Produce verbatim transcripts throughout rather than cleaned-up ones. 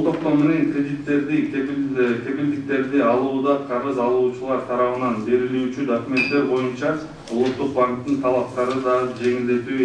Toplum menен kreditlerdi, kepilдиктерди алууда карыз алуучулар тарабынан берилүүчү документтер боюнча Улуттук банктын талаптары да жеңилдетүү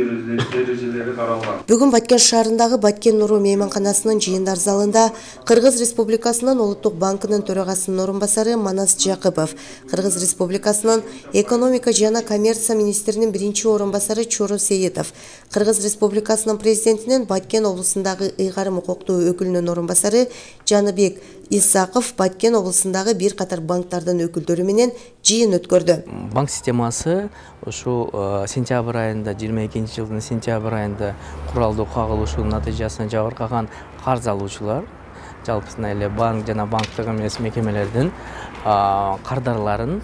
эрежелери каралган. Бүгүн Баткен шаарындагы Баткен Нуру мейманканасынын жыйындар залында Кыргыз Республикасынын Улуттук банкынын төрагасынын орун басары Манас Жакыпов, Кыргыз Республикасынын экономика жана коммерция министринин биринчи орун басары Чору Сеитов, Кыргыз Республикасынын президентинин Баткен облусундагы ыйгарым укуктуу өкүлүнүн орун басары Жаныбек Исаков Баткен облусундагы бир катар банктардын өкүлдөрү менен жыйын өткөрдү. Банк системасы ошо сентябрь айында, жыйырма экинчи жылдын сентябрь айында куралдуу кагылышуунун натыйжасында жабыркаган карыз алуучулар, жалпысына эле банк жана банктык эмес мекемелердин кардарларын,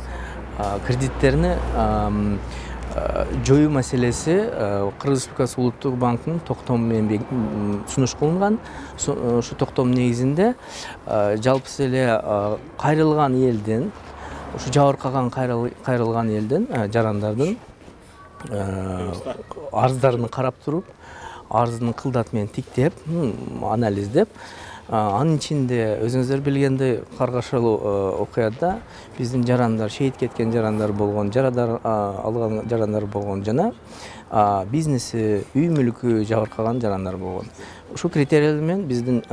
кредиттерин жоюу маселеси Кыргыз Республикасы Улуттук банкынын токтому менен сунуш кылынган. Ушу токтом негизинде жалпысы эле кайрылган элдин, ушу жабыркаган кайрылган элдин, жарандардын арыздарын карап туруп, арыздын кылдаты менен тиктеп, анализдеп, анын ичинде өзүңүздөр билгендей каргашалуу окуяда биздин жарандар, шейит кеткен жарандар болгон, жарадар алган жарандар болгон жана бизнеси, үй мүлкү жабыркаган жарандар болгон. Ушул критерийлер менен биздин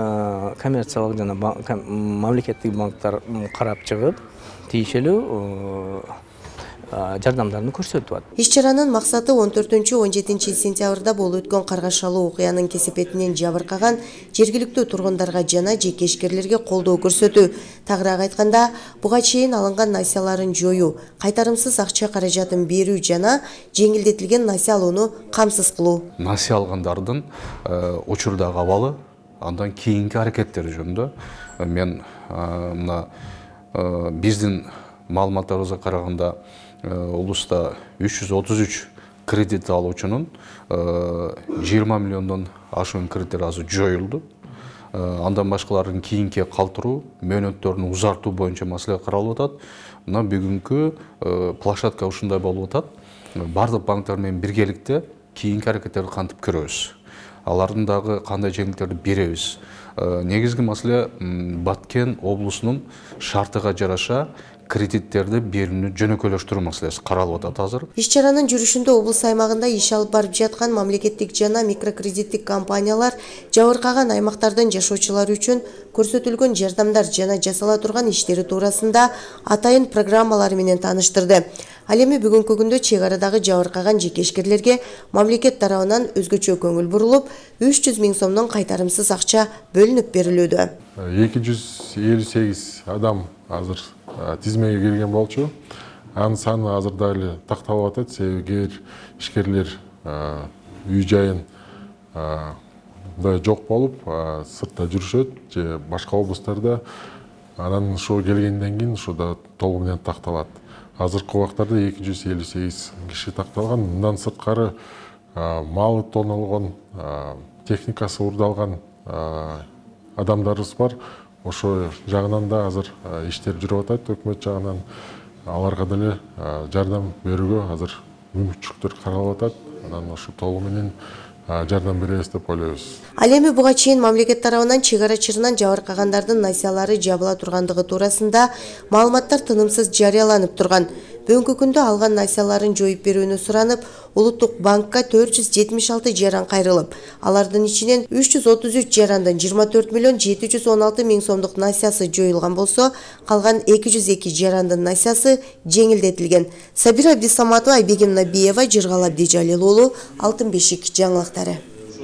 коммерциялык жана мамлекеттик банктар карап чыгып, тийишелүү жардамдарын көрсөтүп атат. Иш-чаранын максаты он төртүнчү он жетинчи сентябрда болуп өткөн каргашалуу окуянын кесепетинен жабыркаган жергиликтүү тургундарга жана жекешкерлерге колдоо көрсөтүү. Тагыраак айтканда, буга чейин алынган насияларын жоюу, кайтарымсыз акча каражатын берүү жана жеңилдетилген насия алууну камсыз кылуу. Насия алгандардын учурдагы абалы, андан кийинки аракеттери жөнүндө мен мына биздин маалыматтарыбызга караганда улуста үч жүз отуз үч кредит алуучунун жыйырма миллиондон ашуун кредиттер азыр жоюлду. Андан башкалардын кийинки калтыруу, мөөнөттөрүн узартуу боюнча маселе каралып атат. Мына бүгүнкү площадка ушундай болуп атат. Бардык банктар менен биргеликте кийинки аракеттерди кантип көрөбүз. Алардын дагы кандай жеңилдиктерди беребиз. Негизги маселе Баткен облусунун шартыга жараша кредиттерди берүүнү жөнөкөйлөштүрүү маселеси каралып атат азыр. Иш-чаранын жүрүшүндө облус аймагында иш алып барып жаткан мамлекеттик жана микрокредиттик компаниялар жабыркаган аймактардын жашоочулары үчүн көрсөтүлгөн жардамдар жана жасала турган иштери туурасында атайын программалары менен тааныштырды. Ал эми бүгүнкү күндө чек арадагы жабыркаган жекешкерлерге мамлекет тарабынан өзгөчө көңүл бурулуп, үч жүз миң сомдон кайтарымсыз акча бөлүнүп берилүүдө. эки жүз элүү сегиз адам азыр тизмеге кирген болчу. Анын саны азыр дагы такталып атат, себеби кээ бир ишкерлер үй жайын жок болуп, сыртта жүрүшөт же башка облустарда. Анан ошо келгенден кийин ошо да толугу менен такталат. Азыркы убактарда эки жүз элүү сегиз киши такталган. Мындан сырткары малы тоналган, техникасы урдалган адамдарыбыз бар. Ошо жагынан да азыр иштер жүрүп атат, өкмөт жагынан аларга деле жардам берүүгө азыр мүмкүнчүлүктөр каралып атат. Анан ошо толугу менен жардам беребиз деп ойлойбуз. Ал эми буга чейин мамлекет тарабынан чек ара чырынан жабыркагандардын насиялары жабыла тургандыгы туурасында маалыматтар тынымсыз жарыяланып турган. Бүгүнкү күндө алган насияларын жоюп берүүнү суранып, Улуттук банкка төрт жүз жетимиш алты жаран кайрылып, алардын ичинен үч жүз отуз үч жарандын жыйырма төрт миллион жети жүз он алты миң сомдук насиясы жоюлган болсо, калган эки жүз эки жарандын насиясы жеңилдетилген. Сабира Абдисаматова, Айбегим Набиева, Жыргал Абдижалил уулу, Алтын бешик жаңылыктары.